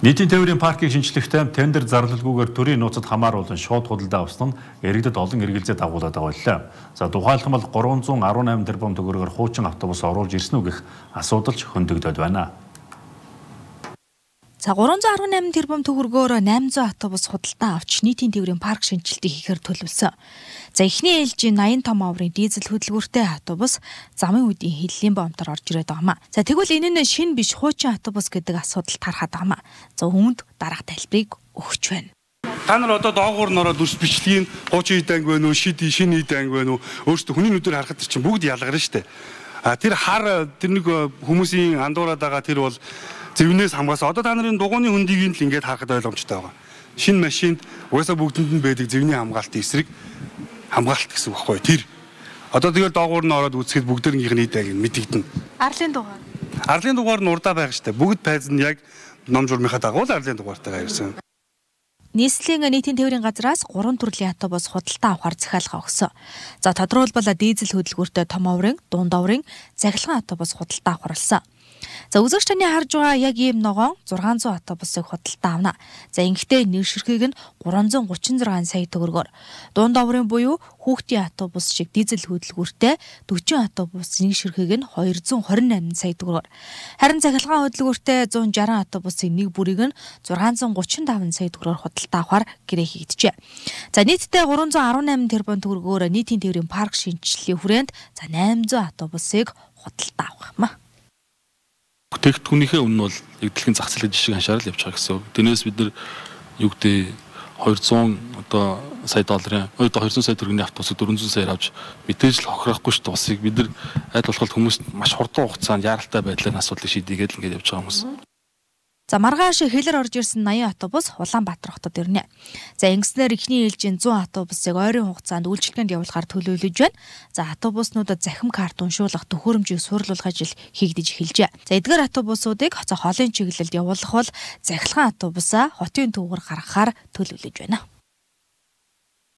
Нийтийн тээврийн паркийг шинчлэхдээ тендер зарлалгүйгээр төрийн нууцад хамааруулан шууд худалдаа авсан нь иргэдэд олон эргэлзээ дагуулад байгаа. За тухайлбал 318 тэрбум төгрөгөөр хуучин автобус оруулж ирсэн үү гэх асуудал ч хөндөгдөд байна. За 318 тэрбум төгрөгөөр 800 автобус худалдаа авч нийтийн тээврийн парк шинжилтийг хийхээр төлөвлөсөн. За эхний ээлжийн 80 том аврын дизель хөдөлгөөртэй автобус замын үеийн хиллийн бомтор орж ирээд байгаамаа. За тэгвэл энэ нь шинэ биш хуучин автобус гэдэг асуудал тарахад байгаамаа. За үүнд дараах тайлбарыг өгч байна. Та нар одоо доогуур нороод үс бичлэгийн хуучин ид анги байна уу, шинэ ид анги байна уу? Өөрөөсөө хүний нүдээр харахад чинь бүгд ялгарна шүү дээ. Тэр хар тэр нэг хүмүүсийн андуураад байгаа тэр бол зөвнөөс хамгаалсан. Одоо та нарын дугууны хөндийг л ингээд харахад ойлгомжтой байгаа. Шинэ машинд угаасаа бүгдэнд нь байдаг зөвний хамгаалтын эсрэг хамгаалт гэсэн үг байхгүй тэр. Одоо тэгэл доогуур нь ороод үзэхэд бүгдэрнийх нь идэг мэдэгдэнэ. Арлын дугаар нь урдаа байх штэ. Бүгд пайз нь яг ном журмынхаа дагуу л арлын дугаартайгаа ирсэн. Нийслэлийн нийтийн тээврийн газраас 3 төрлийн автобус худалдаа авахар захиалга өгсөн. За тодорхойлбол дизель хөдөлгөөртэй том аврын, дунд аврын, цахилгаан автобус худалдаа авахарлсан. За үзэгч таны харж байгаа яг ийм ногоон 600 автобусыг худалдаа авна. За ингэхдээ нэг ширхэг нь 336 сая төгрөгөөр, дунд аврын буюу хүүхдийн автобус шиг дизель хөдөлгөөртэй 40 автобус нэг ширхэг нь 228 сая төгрөгөөр. Харин цахилгаан хөдөлгөөртэй 160 автобусын нэг бүрийг нь 635 сая төгрөгөөр худалдаа авахар гэрээ хийгдэжээ. За нийтдээ 318 тэрбум төгрөгөөр нийтийн тээврийн парк шинжиллийн хүрээнд за 800 автобусыг худалдаа авах юм а. Бүтээгдэхүүнийхээ үнэ бол яг дэлхийн зах зээлийн жишгийг аншаарал явж байгаа гэсэн. Тэрнээс бид нар юу гэдэг 200 сая долларын 200 сая төгрөгийн автобусыг 400 саяар авч мэдээж л хохирохгүй ш тусыг бид нар аль болох хүмүүст маш хурдан хугацаанд яаралтай байдлаар асуудлыг шийдээгээд л ингэж явж байгаа хүмүүс. За маргааш хэлэр орж ирсэн 80 автобус Улаанбаатар хотод ирнэ. За ингэснээр эхний ээлжийн 100 автобусыг ойрын хугацаанд үйлчилгээнд явуулахар төлөвлөж байна. За автобуснуудад захим карт уншуулах төхөөрөмжийг сурлуулах ажил хийгдэж эхэлжээ. За эдгээр автобусуудыг хоолын чиглэлд явуулах бол захилгаан автобусаа хотын төвөөр гаргахаар төлөвлөж байна.